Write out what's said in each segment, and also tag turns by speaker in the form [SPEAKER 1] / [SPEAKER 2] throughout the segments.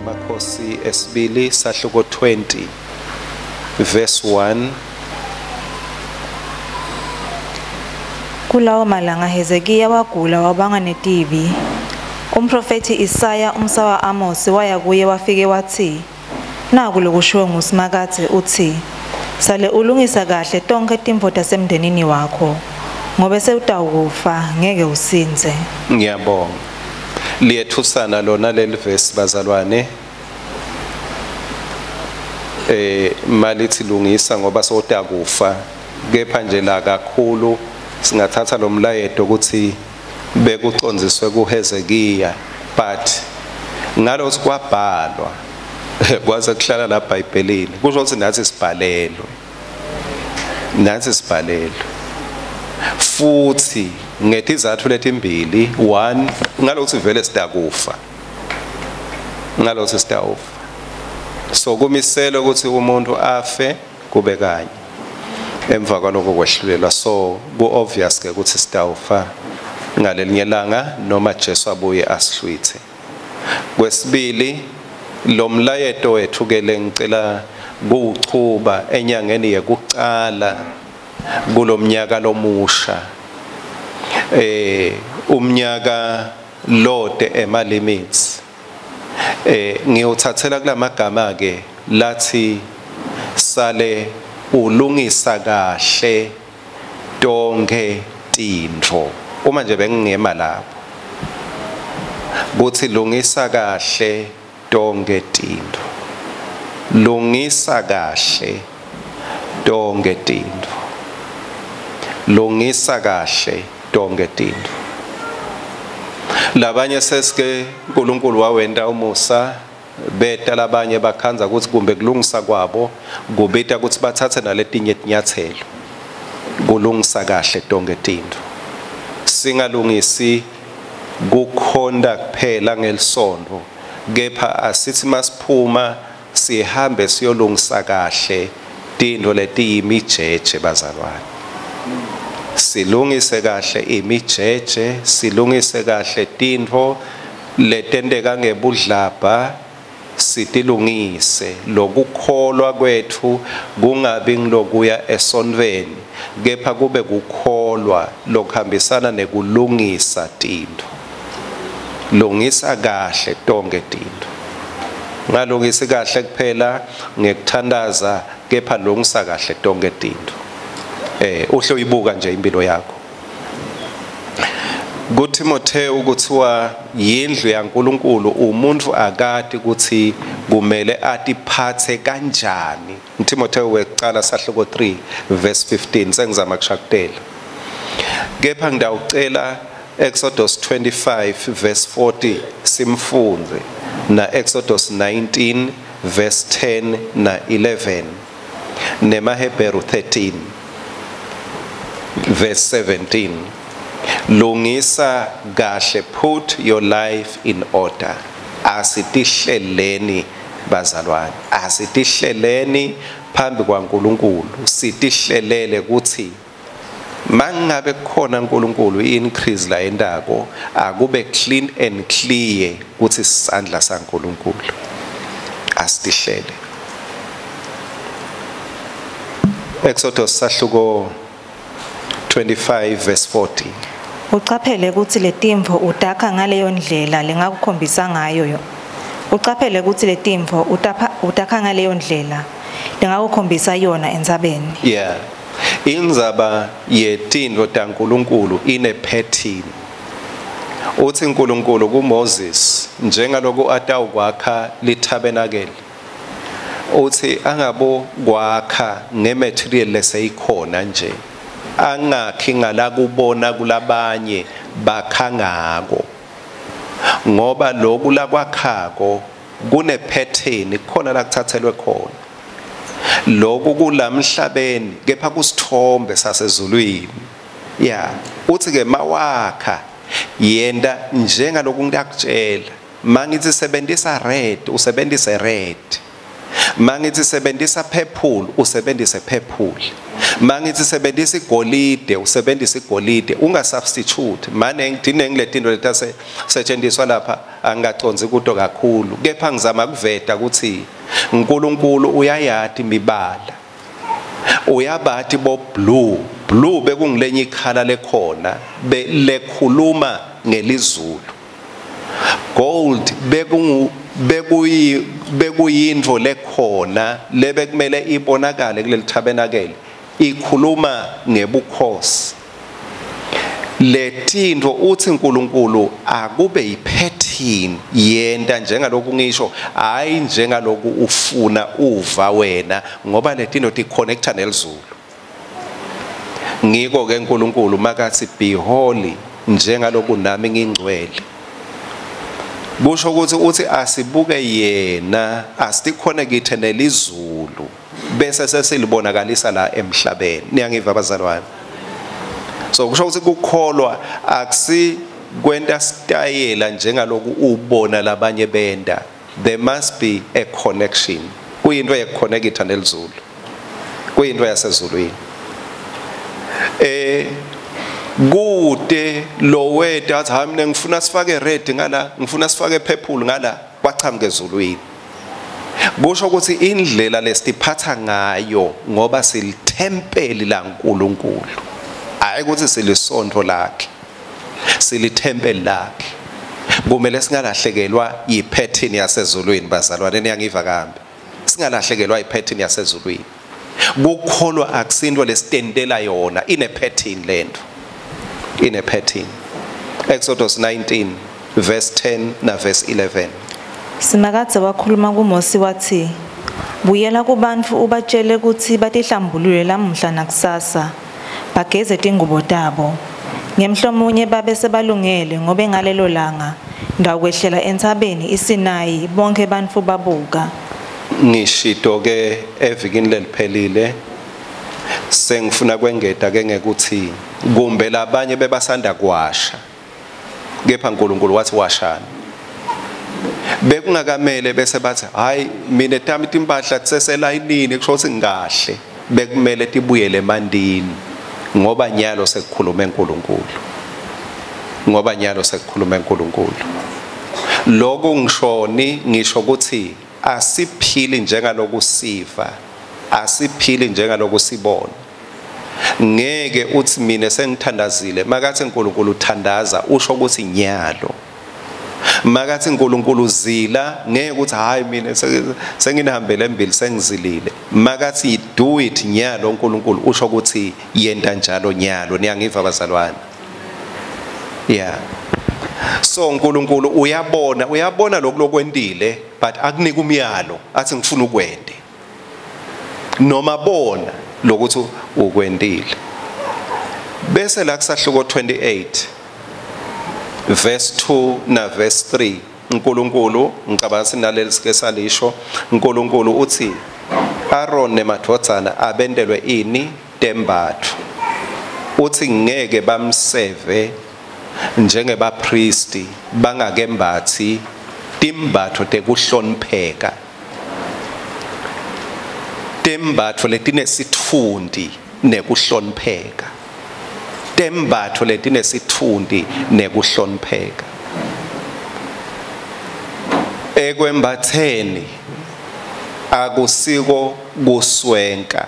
[SPEAKER 1] yemakhosi esibili sahluko 20 verse 1.
[SPEAKER 2] Kulawo malanga Hezekiya wagula wabanga netibi. Umphrofethi Isaya umsa wa-Amosi waya kuye wafike watsi, Naku lokushiwo nguSimakadze utsi, Sale ulungisa kahle tonkhe tintfo tasemndenini wakho, ngobe sewutawukufa, ngeke usindze.
[SPEAKER 1] Ngiyabonga. Liyethusana lona leli verse bazalwane. Malithi lungisa ngoba sewutakufa, kepha nje la kakhulu singathatha lo mlayeto ukuthi bekucondziswe kuHezekiya, but ngalokho kwabhalwa kwaze kuhlala la eBhayibhelini, kusho ukuthi nathi sibhalelwe, nathi sibhalelwe futhi ngetizathu letimbili. One, ngalokho vele sitakufa, ngalokho sitawufa, so kumisela ukuthi umuntu afe kube kanye, emva kwaloko kwehlulelwa. So ku obvious ke ukuthi sitawufa ngalelinye langa noma Jesu abuye asihlwithe. Kwesibili, lo mlayeto wethu ke lengicela kuwuchuba enyangeni yekucala kulomnyaka lomusha, umnyaka lote ema limits, ngiyothathela kulamagama ke lathi sale ulungisa kahle tonke tintfo. Uma nje bengingema lapho kuthi lungisa kahle tonke tintfo, lungisa kahle tonke tintfo, lungisa kahle tonke tintfo. Labanye sesike uNkulunkulu wawenta umusa, beta labanye bakhandza ukuthi kumbe kulungisa kwabo kubita ukuthi bathathe naletinye tinyathelo kulungisa kahle tonke tintfo. Singalungisi kukhonda kuphela ngelisonto, kepha asithi masiphuma sihambe siyolungisa kahle tintfo letiyimijeje bazalwane. Silungise kahle imijeje, silungise kahle tintfo letenteka ngebudlabha, sitilungise. Lokukholwa kwethu kungabi ngilokuya esontweni, kepha kube kukholwa lokuhambisana nekulungisa tintfo. Lungisa kahle tonke tintfo, ngalungisi kahle kuphela ngekuthandaza, kepha lungisa kahle tonke tintfo. Uhle uyibuka nje impilo yakho. KuTimotheo kuthiwa yindlu yaNkulunkulu, umuntu akati ukuthi kumele atiphathe kanjani. Timotheo wekucala sahluko 3 verse 15, sengizama kushakutela. Kepha ngidawucela Exodus 25 verse 40 simfundze, na Exodus 19 verse 10 na 11, nemaHebheru 13 verse 17. Lungisa kahle, put your life in order. Asitihleleni bazalwane, asitihleleni phambi kwaNkulunkulu, sitihlelele ukuthi mangabe kukhona uNkulunkulu i-increase la endako akube clean and clear ukuthi isandla saNkulunkulu. Asitihlele. Exodus sahluko 25 verse 40.
[SPEAKER 2] Ucaphele ukuthi letimvo utakha ngaleyo ndlela lengakukhombisa ngayo. Ucaphele ukuthi letimvo utakha ngaleyo ndlela lengakukhombisa yona entsabeni.
[SPEAKER 1] Yeah. Indzaba yetintfo taNkulunkulu ine pattern. Uthi uNkulunkulu kuMoses njengaloku atawukwakha litabernacle, uthi angabo kwakha ngematerial leseyikhona nje, angakhi ngala kubona kulabanye bakha ngako, ngoba loku lakwakhako kune pattern khona la kuthathelwe khona. Lokhu kulamhlabeni kepha kusithombe sasezulwini. Yeah, uthi ke mawakha yenda njengaloku ngiyakutshela. Mangithi sebenzisa red, usebenzise red. Mangithi sebenzisa purple, usebenzise purple. Mangithi sebenzisa igolide, usebenzise igolide, unga substitute. Mane ngidinenge letinto letase setshenziswa lapha, Angacondzi kuto kakhulu, kepha ngizama kuveta ukuthi uNkulunkulu uyayati imibala, uyabathi bo blue. Blue bekungilenye ikhala lekhona lekhuluma ngelizulu. Gold bekuyintfo lekhona lebekumele ibonakale kuleli tabernacle, ikhuluma ngebukhosi. Letintfo uthi uNkulunkulu akube yipattern, yenta njengaloku ngisho, hayi njengaloku ufuna uva wena, ngoba letintfo ticonnecta nelizulu. Ngiko ke uNkulunkulu makathi be holy njengaloku nami ngingcwele, kusho ukuthi uthi asibuke yena, asiconnecte nelizulu bese sesilibonakalisa la emhlabeni. Niyangiva bazalwane? So kusho ukuthi kukholwa akusi kwenta stayela njengaloku ubona labanye benda. There must be a connection. Kuyinto yekuconnecta nelizulu, kuyinto yasezulwini. Kude lo weta athi hayi mina ngifuna sifake red ngala, ngifuna sifake purple ngala, kwachamuka ezulwini. Kusho ukuthi indlela lesiphatha ngayo, ngoba silithempeli laNkulunkulu, hayi ukuthi silisonto lakhe, silithempeli lakhe. Kumele singalahlekelwa yipattern yasezulwini bazalwane. Niyangiva kambe? Singalahlekelwa yipattern yasezulwini. Kukholwa akusinto lesitentela yona, ine pattern lento, ine pattern. Exodus 19 verse 10 na verse 11.
[SPEAKER 2] Simakadze wakhuluma kuMosi wathi, buyela kubantfu ubatshele kutsi batihlambulule lamuhla nakusasa, bageze tingubo tabo. Ngemhlomunye babe sebalungele, ngobe ngalelo langa ndawukwehlela entsabeni iSinayi bonke bantfu babuka.
[SPEAKER 1] Ngishito ke evikini leliphelile, sengifuna kwengeta ke ngekuthi kumbe labanye bebasanda kwasha, kepha uNkulunkulu wathi washani. Bekungakamele bese bathi hayi mina tami timpahla tiseselayinini, kusho ukuthi ngikahle. Bekumele tibuyele emandini, ngoba nyalo sekukhulume uNkulunkulu, ngoba nyalo sekukhulume uNkulunkulu. Lokho ngishoni, ngisho ukuthi asiphili njengaloku siva, asiphili njengaloku sibona. Ngeke uthi mina sengithandazile, makathi uNkulunkulu uthandaza usho ukuthi nyalo. Makathi uNkulunkulu uzila, ngeke uthi hayi mina senginihambele embili sengizilile. Makathi do it nyalo uNkulunkulu usho ukuthi yenta njalo nyalo. Niyangiva bazalwane? Yeah. So uNkulunkulu uyabona, uyabona lokhu lokwentile, but akunika umyalo athi ngifuna ukwente, noma bona lokuthi ukwentile. Bese la kusahluko 28 verse 2 na verse 3, uNkulunkulu, ngicabanga sinaleli sike salisho, uNkulunkulu uthi Aaron nemadvodzana abentelwe ini tembatfo. Uthi ngeke bamseve njengebapristi bangakembathi timbatfo tekuhlonipheka, tembatfo letinesitfunti nekuhlonipheka, tembatfo letinesitfunti nekuhlonipheka. Ekwembatheni akusiko kuswenka,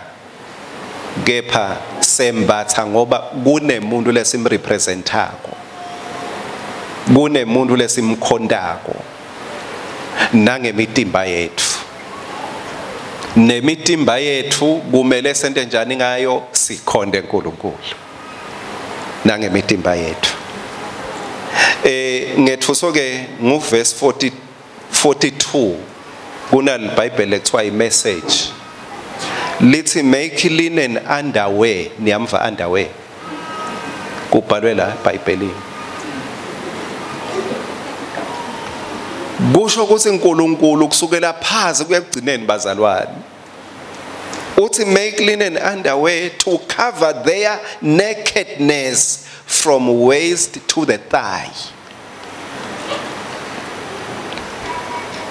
[SPEAKER 1] kepha sembatha ngoba kunemuntu lesimrepresentako, kunemuntu lesimkhontako nangemitimba yethu. Nemitimba yethu kumele sente njani ngayo? Sikhonde uNkulunkulu nangemitimba yethu. Ngethuso ke nguverse 42 kunalibhayibheli ekuthiwa iMessage, lithi make linen underwear. Niyamva underwear kubhalwe la eBhayibhelini. Kusho ukuthi uNkulunkulu kusukela phansi kuya kugcineni bazalwane, uthi make linen underwear to cover their nakedness from waist to the thigh.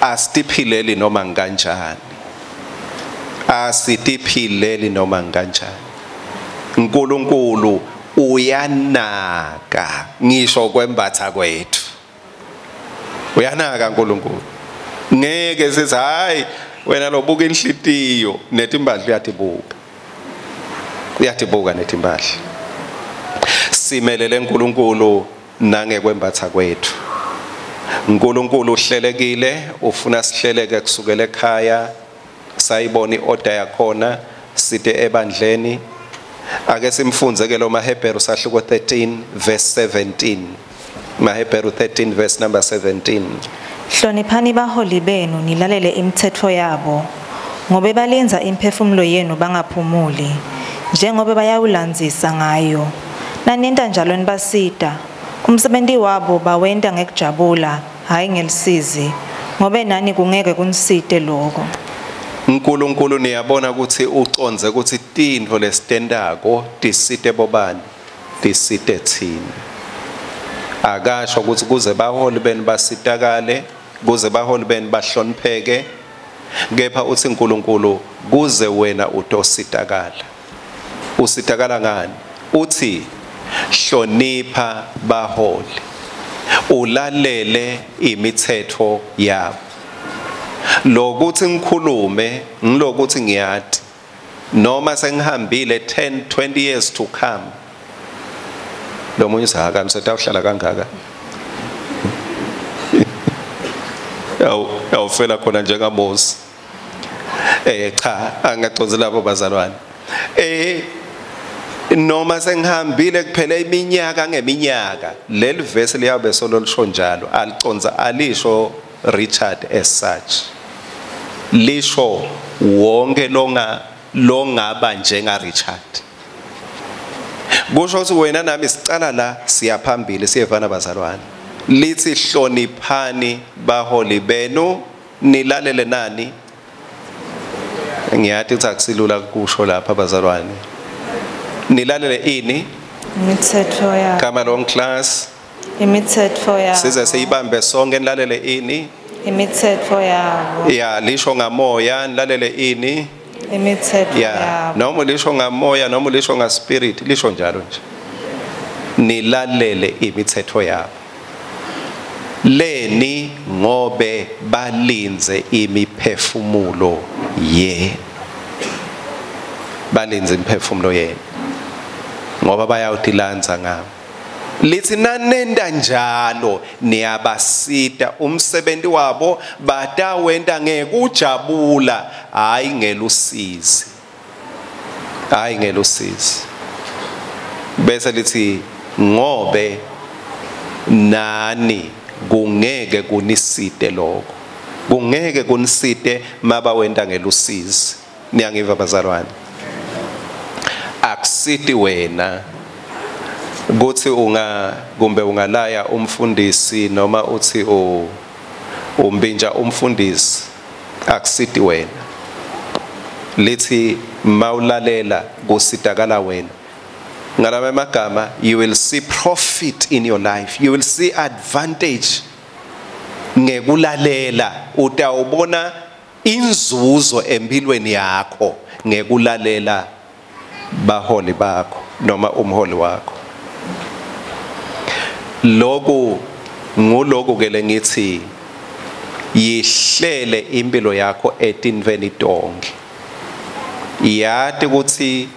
[SPEAKER 1] Asitiphileli noma kanjani, asitiphileli noma kanjani. uNkulunkulu uyanaka ngisho kwembatha kwethu. Uyanaka uNkulunkulu. Ngeke sithi hayi wena lobuka inhlitiyo netimbadla uyatibuka. Uyatibuka netimbadla. Simelele uNkulunkulu nangekwembatha kwethu. uNkulunkulu uhlelekile, ufuna sihleleke kusukela ekhaya, sayibona iorder yakhona site ebandleni. Ake simfunze ke lo maHebheru sahluko 13 verse 17. MaHebheru 13 verse number 17.
[SPEAKER 2] Hloniphani baholi benu nilalele imithetho yabo, ngobe balindza imphefumulo yenu bangaphumuli, njengobe bayawulandzisa ngayo. Nanenta njalo nibasita, umsebenti wabo bawenta ngekujabula, hhayi ngelisizi, ngobe nani kungeke kunisite lokho.
[SPEAKER 1] uNkulunkulu niyabona ukuthi ucondze ukuthi tintfo lesitentako tisite bobani, tisite thina. Akasho ukuthi kuze baholi benu basitakale, kuze baholi benu bahlonipheke, kepha uthi uNkulunkulu kuze wena utositakala. Usitakala ngani? Uthi hlonipha baholi, ulalele imithetho yabo. Lokuthi ngikhulume ngilokuthi ngiyati noma sengihambile 10 20 years to come. Lo munye usahaka msetawuhlala kangaka. Yawufela khona njengaMose. Cha angaconzi labo bazalwane. Noma sengihambile kuphela iminyaka ngeminyaka, leli verse liyabe solo lisho njalo, aliconza alisho Richard as such. Lisho wonke longaba njenga Richard. Kusho ukuthi wena nami sicala la siyaphambili siyevana bazalwane. Lithi hloniphani baholi benu nilalele nani. Ngiyathi ukuthi akusilula kusho lapha bazalwane. Nilalele ini?
[SPEAKER 2] Imithetho yabo.
[SPEAKER 1] Come along class.
[SPEAKER 2] Imithetho yabo.
[SPEAKER 1] Size siyibambe sonke nilalele ini?
[SPEAKER 2] Imithetho yabo.
[SPEAKER 1] Ya lisho ngamoya nilalele ini?
[SPEAKER 2] Imithetho yabo.
[SPEAKER 1] Noma lisho ngamoya noma lisho nga spirit lisho njalo nje. Nilalele imithetho yabo. Leni ngobe balinze imiphefumulo yenu. Balinze imiphefumulo yenu. Ngoba bayawutilanza ngabo. Lithi nanenda njalo niyabasita umsebenzi wabo batawenta ngekujabula hayi ngelusizi. Hayi ngelusizi. Bese lithi ngobe nani kungeke kunisite lokho. Kungeke kunisite mabawenta ngelusizi. Niyangiva bazalwane? Akusiti wena kuthi kumbe ungalaya umfundisi noma uthi umbinja umfundisi, akusiti wena. Lithi mawulalela kusitakala wena. Ngalama magama, you will see profit in your life, you will see advantage ngekulalela. Utawubona inzuzo empilweni yakho ngekulalela baholi bakho noma umholi wakho. Lokhu nguloku ke lengithi yihlele impilo yakho etintweni tonke. Yati ukuthi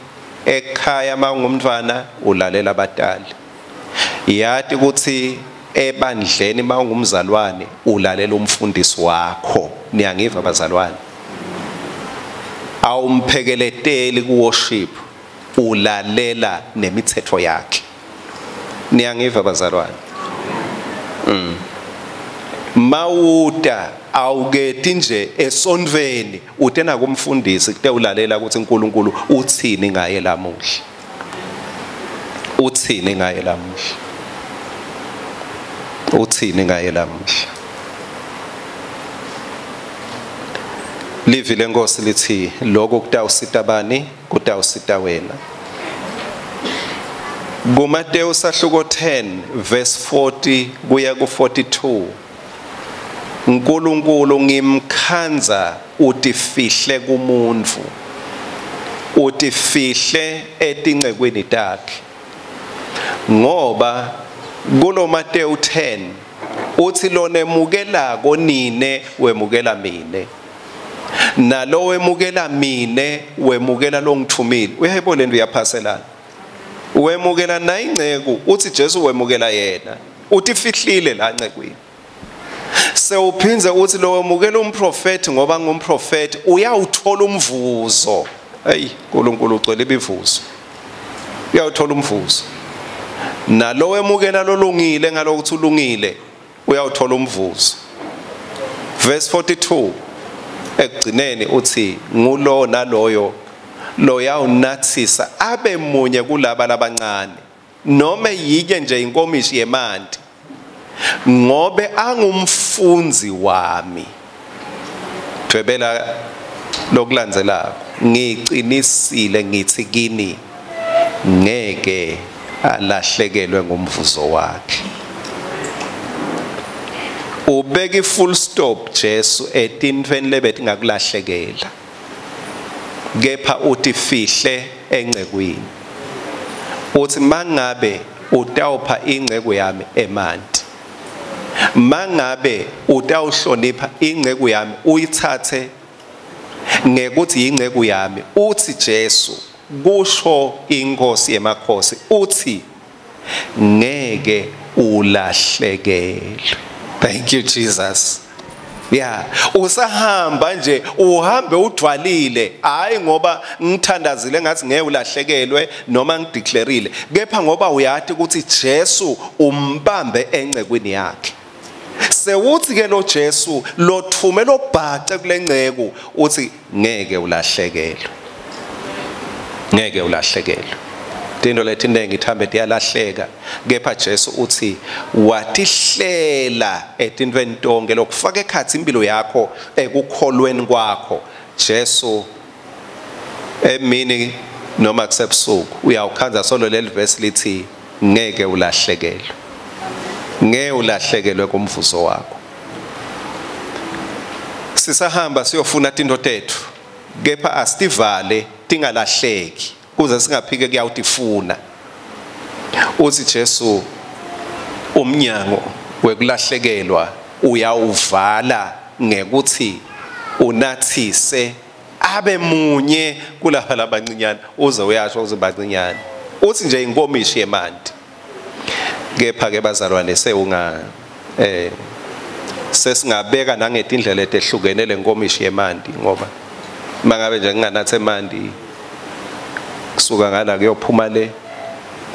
[SPEAKER 1] ekhaya mawungumntwana ulalela abatali. Yati ukuthi ebandleni mawungumzalwane ulalela umfundisi wakho. Niyangiva bazalwane? Awumphekeleteli ku worship, ulalela nemithetho yakhe. Niyangiva bazalwane? Mawuta awuketi nje esontweni utena kumfundisi kute ulalela ukuthi uNkulunkulu uthini ngaye lamuhla. Uthini ngaye lamuhla. Uthini ngaye lamuhla. Livi lenkosi lithi lokho kutawusita bani? Kutawusita wena. KuMateyu sahluko 10 verse 40 kuya ku 42. uNkulunkulu ngimkhandza utifihle kumuntu, utifihle etincekweni takhe. Ngoba kulo Mateyu 10 Uthi lonemukelako nine wemukela mine, nalo wemukela mine wemukela longithumile. Uyayibona lento iyaphaselana. Wemukela na inceku, uthi Jesu wemukela yena, utifihlile la ncekwini. Sewuphinze uthi lo wemukela umprofeti ngoba ngumprofeti uyawuthola umvuzo. Hey, uNkulunkulu ugcwele imivuzo. Uyawuthola umvuzo. Nalo wemukela lolungile ngalokuthi ulungile uyawuthola umvuzo. Verse 42 ekugcineni uthi ngulo naloyo loyawunathisa abe munye kulaba labancane noma yike nje inkomishi yemanti ngobe angumfundzi wami. Dwebela lokulandzelako, ngicinisile ngithi kini ngeke alahlekelwe ngumvuzo wakhe. Ubeka i-full stop Jesu etintfweni lebetingakulahlekela, kepha utifihle encekwini. Uthi mangabe utawupha inceku yami emanti, mangabe utawuhlonipha inceku yami uyithathe ngekuthi inceku yami, uthi Jesu kusho inkosi yemakhosi, uthi ngeke ulahlekelwe. Thank you Jesus. Yeah, usahamba nje uhambe udvwalile, hayi ngoba ngithandazile ngathi ngeke ulahlekelwe noma ngideclareile, kepha ngoba uyati ukuthi Jesu umbambe encekwini yakhe. Sewuthi ke lo Jesu lothume lobhace kulenceku uthi ngeke ulahlekelwe. Ngeke ulahlekelwe. Tinto letinengi ithambe tiyalahleka, kepha Jesu uthi watihlela etintweni tonke lokufaka ekhatsi impilo yakho ekukholweni kwakho. Jesu emini noma kusebusuku uyawukhandza solo leli verse lithi ngeke ulahlekelwe. Ngeke ulahlekelwe kumvuzo wakho. Sisahamba siyofuna tinto tethu, kepha asitivale tingalahleki kuze singaphike kuyawutifuna. Uthi Jesu umnyango wekulahlekelwa uyawuvala ngekuthi unathise abe munye kulaba labancinyane, uze uyasho uze bancinyane. Uthi nje inkomishi yemanti. Kepha ke bazalwane sewunga sesingabeka nangetindlela etehlukene lenkomishi yemanti, ngoba mangabe nje nginganathe emanti kusuka ngala kuyophuma le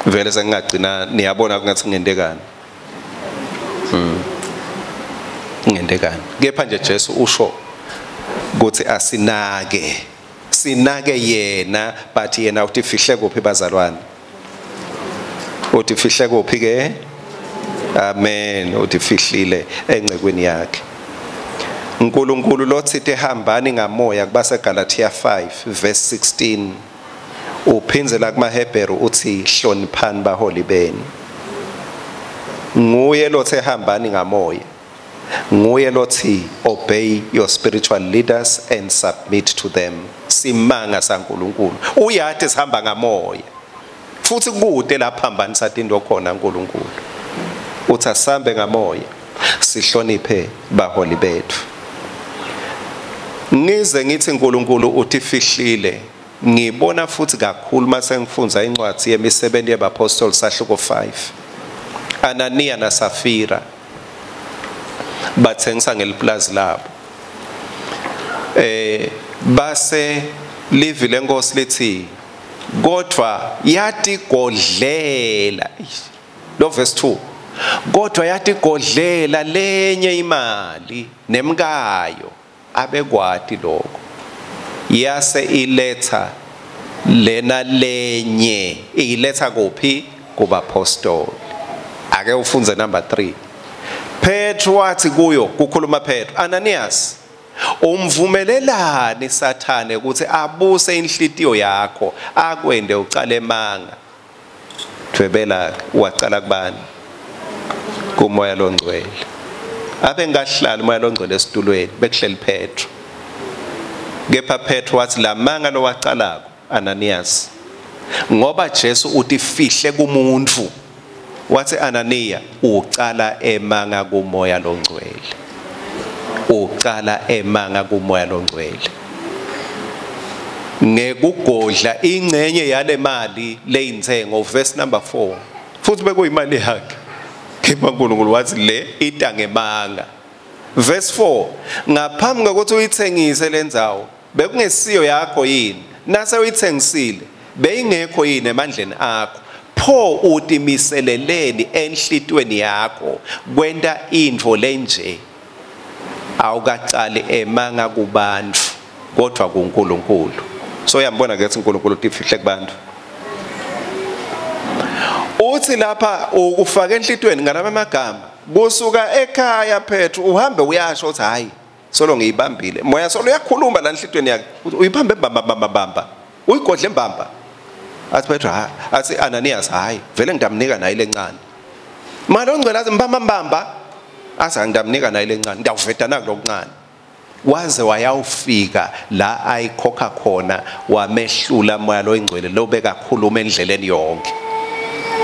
[SPEAKER 1] vele sengingagcina niyabona kungathi ngentekani. Ngentekani. Kepha nje Jesu usho ukuthi asinake, sinake yena, but yena utifihle kuphi bazalwane? Utifihle kuphi ke? Amen. Utifihlile encekwini yakhe. uNkulunkulu lotsite hambani ngamoya kubase Galatia 5 verse 16 uphinze la kumaHebheru uthi hloniphani baholi benu. Nguye lothe hambani ngamoya, nguye lothi obey your spiritual leaders and submit to them. Simanga saNkulunkulu uyati sihamba ngamoya futhi kude lapha hambanisa tinto khona uNkulunkulu. Uthi asambe ngamoya sihloniphe baholi bethu. Ngize ngithi uNkulunkulu utifihlile, ngibona futhi kakhulu mase ngifundza incwadi yemisebenzi yabaPostoli sahluko 5. Anania na Safira bathengisa ngeliplazi labo. Base livi lenkosi lithi kodwa yatigodlela, lo verse 2, kodwa yatigodlela lenye imali nemkayo abekwati lokho, yase iletha lena lenye, iletha kuphi? Kubapostoli. Ake ufunze number 3. Petro wathi kuyo, kukhuluma Petro, Ananias, umvumelelani Sathane ukuthi abuse inhlitiyo yakho akwende ucale manga? Dwebela wacala kubani? Kumoya longcwele. Abe ngahlala umoya longcwele esitulweni, bekuhleli Petro. Kepha Petro wathi lamanga lowacalako Ananias, ngoba Jesu utifihle kumuntu. Wathi Ananiya ucala emanga kumoya longcwele, ucala emanga kumoya longcwele ngekugodla ingcenye yale mali leyintsengo. Verse number 4, futhi bekuyimali yakhe, kepha uNkulunkulu wathi le ita ngemanga. Verse 4, ngaphambi kokuthi uyithengise lendzawo bekungesiyo yakho yini? Nase uyithengisile beyingekho yini emandleni akho? Pho utimiseleleni enhlitweni yakho kwenta intfo lenje? Awukacali emanga kubantu kodwa kuNkulunkulu. So uyambona ke ukuthi uNkulunkulu utifihle kubantu. Uthi lapha ukufaka enhlitweni ngalama magama, kusuka ekhaya Petru uhambe uyasho uthi hayi solo ngiyibambile. Moya solo uyakhuluma la enhlitweni yakhe, uyibambe bamba bamba bamba, uyigodle mbamba. Athi Petru ha, athi Ananias hayi vele ngidamnika naye lencane. Mara ongcwele athi mbamba mbamba, athi angidamnika naye lencane, ngiyawuveda nakulokuncane. Waze wayawufika la ayikhokha khona, wamehlula moya loyingcwele lo bekakhuluma endleleni yonke.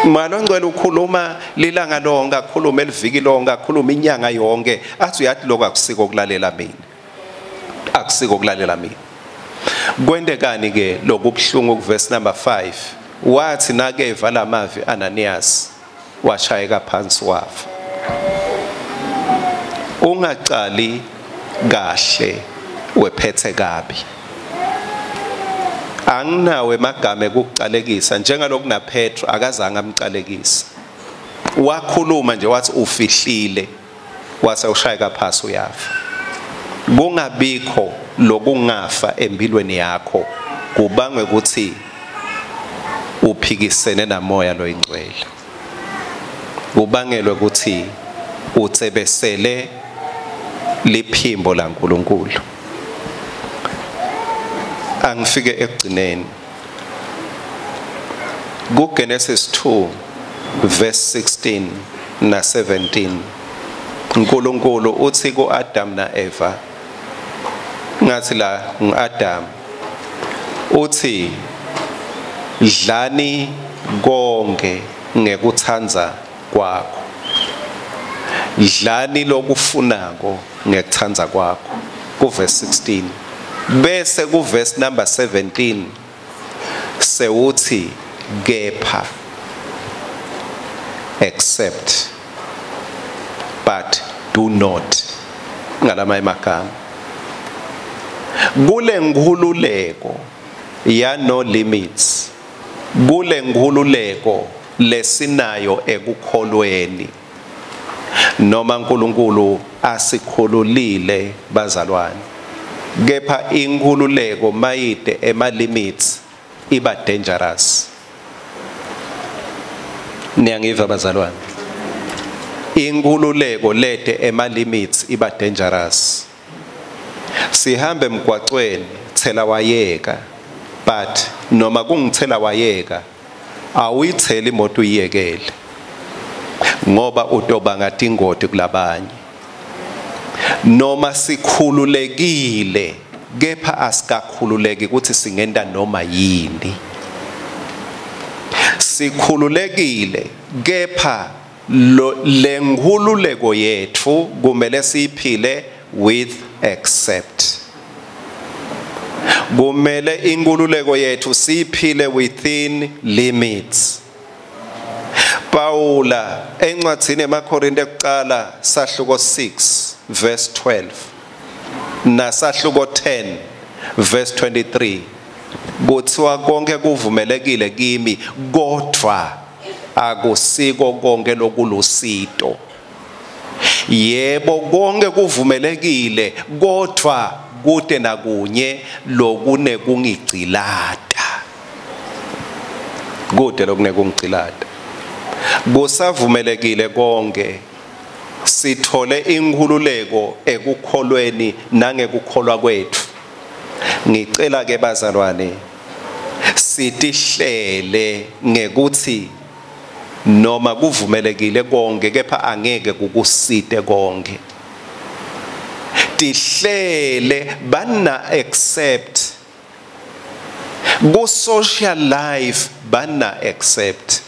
[SPEAKER 1] Moya longcwele ukhuluma lilanga lonke, akhuluma eliviki lonke, akhuluma inyanga yonke. Athi uyathi lokho akusiko kulalela mina, akusiko kulalela mina. Kwentekani ke lokubuhlungu ku verse number 5? Wathi nakeva lamavi Ananias washayeka phansi wafa. Ungacali kahle wephethe kabi. Anginawe emagama ekucalekisa njengaloku na Petro akazange amcalekise. Wakhuluma nje wathi ufihlile, wase ushayeka phansi uyafa. Kungabikho lokungafa empilweni yakho kubangwe ukuthi uphikisene namoya loyingcwele, kubangelwe ukuthi utsebesele liphimbo laNkulunkulu. Angifike ekugcineni ku Genesis 2 verse 16 na 17. uNkulunkulu uthi kuAdam naEva, ngathi la nguAdam, uthi dlani konke ngekuthanda kwakho, dlani lokufunako ngekuthanda kwakho, ku verse 16. Bese ku verse number 17 sewuthi kepha, except, but do not, ngalama emagama. Kule nkhululeko ya no limits, kule nkhululeko lesinayo ekukholweni, noma uNkulunkulu asikhululile bazalwane, kepha inkhululeko mayide ema limits iba dangerous. Niyangiva bazalwane? Inkhululeko lete ema limits iba dangerous. Sihambe emgwaqweni thela wayeka, but noma kungithela wayeka awuyitheli imoto uyiyekele, ngoba utobanga tingoti kulabanye. Noma sikhululekile kepha asikakhululeki ukuthi singenta noma yini. Sikhululekile kepha lenkhululeko yethu kumele siyiphile with accept. Kumele inkululeko yethu siyiphile within limits. Paula encwadzini emaKorinte ekuqala sahluko 6 verse 12 nasahluko 10 verse 23 kuthiwa konke kuvumelekile kimi kodwa akusiko konke lokulusito. Yebo konke kuvumelekile kodwa kude nakunye lokunekungigcilata, kude lokunekungigcilata. Kusavumelekile konke, sithole inkhululeko ekukholweni nangekukholwa kwethu. Ngicela ke bazalwane sitihlele ngekuthi noma kuvumelekile konke kepha angeke kukusite konke. Tihlele bana accept ku social life, bana accept.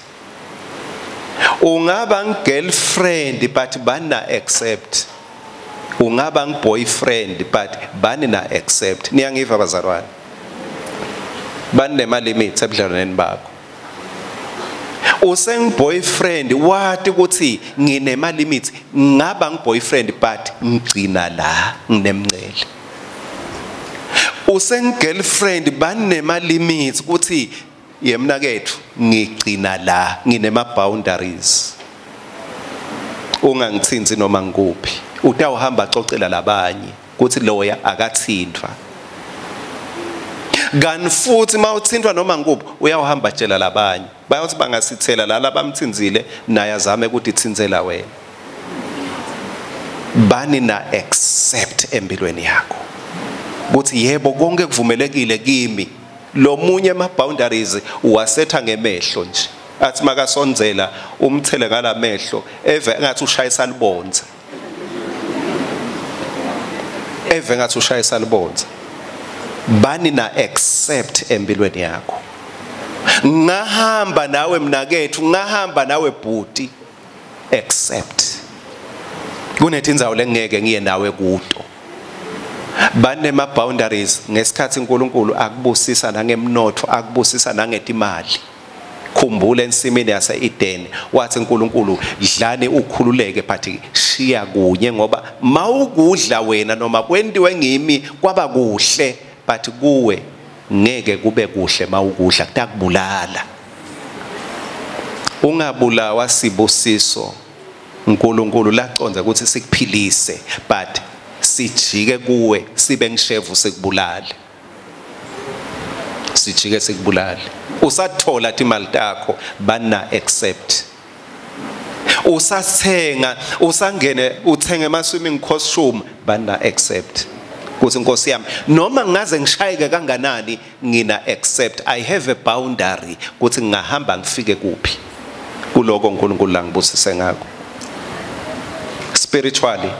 [SPEAKER 1] Ungaba girlfriend but bana accept. Ungaba boyfriend but bani na accept. Niyangiva bazalwane. Bani nema limits ebudlelwaneni bakho. Useng boyfriend wathi ukuthi nginema limits, ngaba boyfriend but ngigcina la nginemncele. Useng girlfriend banema limits ukuthi yemna kethu ngigcina la nginema boundaries. Ungangithinti noma ngikuphi. Utawuhamba axoxela labanye kuthi loya akathintwa. Kanti futhi mawuthintwa noma ngikuphi uyawuhamba tshela labanye. Bayothi bangasithela la labamthinzile naye azame ukuthi ithinzela wena. Bani na accept empilweni yakho. Kuthi yebo konke kuvumelekile kimi. Lo munye ama boundaries uwasetha ngemehlo nje. Athi makasondzela umthele ngalamehlo eve ngathi ushayisa libonza. Eve ngathi ushayisa libonza. Bani na accept empilweni yakho. Ngahamba nawe mnakethu, ngahamba nawe bhuti, accept. Kunetindzawo lengeke ngiye nawe kuto. Banema boundaries ngesikhathi uNkulunkulu akubusisa nangemnotho, akubusisa nangetimali. Khumbula ensimini yase-Eden wathi uNkulunkulu dlani ukhululeke but shiya kunye, ngoba mawukudla wena noma kwentiwe ngimi kwaba kuhle but kuwe ngeke kube kuhle mawukudla, kutakubulala. Ungabulawa sibusiso uNkulunkulu laqonza ukuthi sikuphilise but sijike kuwe sibe ngishevu sikubulale. Sijike sikubulale. Usathola imali takho bana accept. Usathenga, usangene uthenge ama swimming costume bana accept. Kuthi Nkosi yami noma ngaze ngishayeke kanganani ngina accept. I have a boundary kuthi ngingahamba ngifike kuphi kuloko uNkulunkulu langibusise ngakho. Spiritually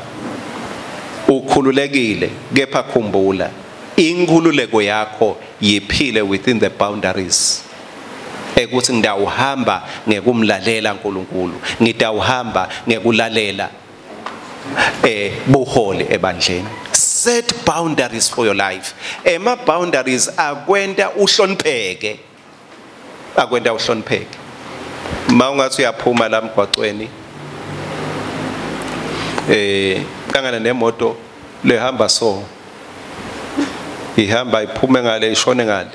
[SPEAKER 1] ukhululekile, kepha khumbula inkhululeko yakho yiphile within the boundaries. Ekuthi ngidawuhamba ngekumlalela uNkulunkulu, ngidawuhamba ngekulalela buholi ebandleni. Set boundaries for your life. Ema boundaries akwenta uhlonipheke. Akwenta uhlonipheke. Mawungathi uyaphuma la emgwaqweni kangana nemoto lehamba so ihamba iphume ngale ishone ngale,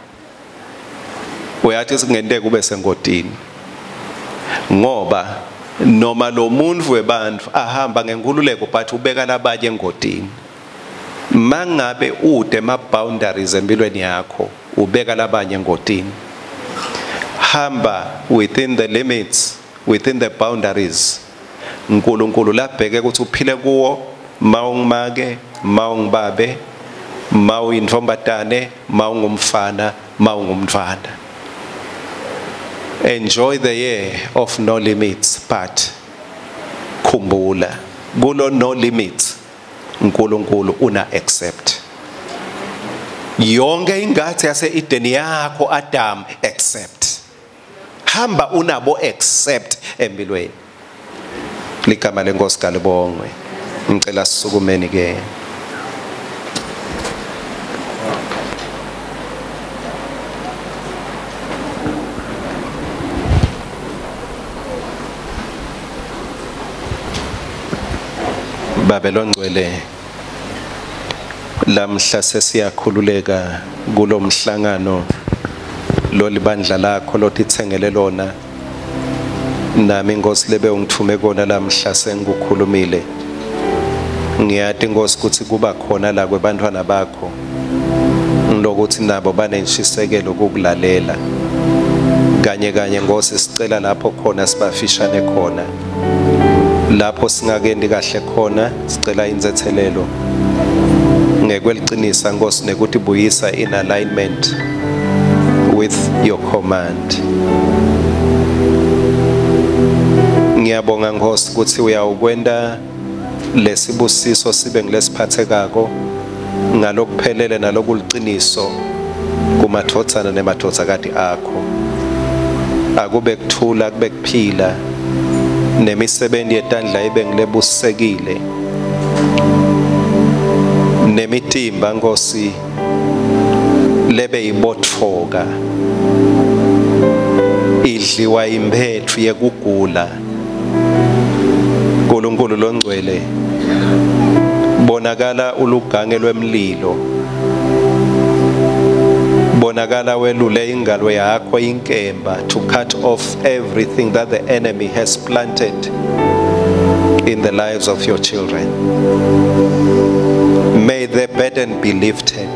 [SPEAKER 1] uyathi singenteka ube sengodini, ngoba noma lo muntu webantu ahamba ngenkululeko but ubeka labanye engodini. Mangabe ude ma boundaries empilweni yakho ubeka labanye engodini. Hamba within the limits, within the boundaries uNkulunkulu labheke ukuthi uphile kuwo. Mawungimake, mawungibabe, mawuyintombatane, mawungumfana, mawungumntwana. Enjoy the year of no limits, but khumbula kulo no limits uNkulunkulu una accept. Yonke ingathi yase-Eden yakho Adam accept. Hamba unabo accept empilweni. Ligama lenkosi kalibongwe. Ngicela sisukumeni ke. Babe longcwele, lamhla sesiyakhululeka kulomhlangano lolibandla lakho lotitsengele lona. Nami Nkosi lebe ungithume kona lamhla sengikukhulumile. Ngiyati Nkosi ukuthi kuba khona la kwebantwana bakho ngilokuthi nabo banenshisekelo ukukulalela. Kanye kanye Nkosi sicela lapho khona sibafishane khona, lapho singakendi kahle khona sicela inzethelelo ngekwelichinisa Nkosi nekuthi buyisa in alignment with your command. Ngiyabonga Nkosi ukuthi uyawukwenda lesibusiso sibe ngilesiphathekako ngalokuphelele nalokuliciniso kumathotsana nemathotsakati akho. Akube kuthula, kube kuphila, Nemisebenti yetandla ibe ngilebusekile. Nemitimba Nkosi lebe ibotfoka idliwa imphetfu yekugula. Nkulunkulu longcwele, bonakala ulugange lwemlilo, bonakala welule ingalo yakho inkemba to cut off everything that the enemy has planted in the lives of your children. May the burden be lifted.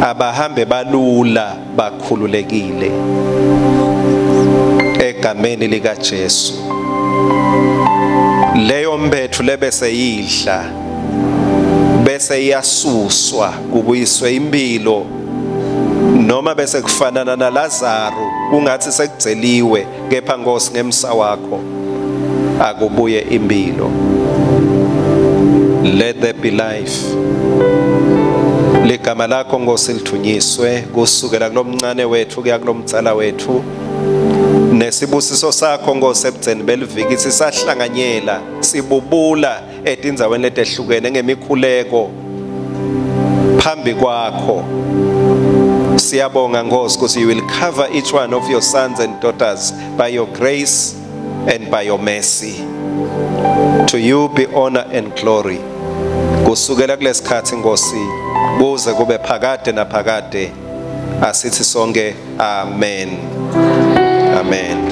[SPEAKER 1] Abahambe balula bakhululekile egameni lika Jesu. Leyo mbethu lebese yidla bese iyasuswa kubuyiswe impilo, noma bese kufanana na Lazaro kungathi sekugceliwe, kepha Nkosi ngemsa wakho akubuye impilo. Let there be life. Ligama lakho Nkosi lithunyiswe kusukela kulomncane wethu kuya kulomdzala wethu. Nesibusiso sakho Nkosi ebudzeni beliviki sisahlanganyela sibubula etindzaweni letehlukene ngemikhuleko phambi kwakho. Siyabonga Nkosi ukuthi you will cover each one of your sons and daughters by your grace and by your mercy. To you be honor and glory. Kusukela kulesikhathi Nkosi kuze kube phakade naphakade, asithi sonke amen. Amen.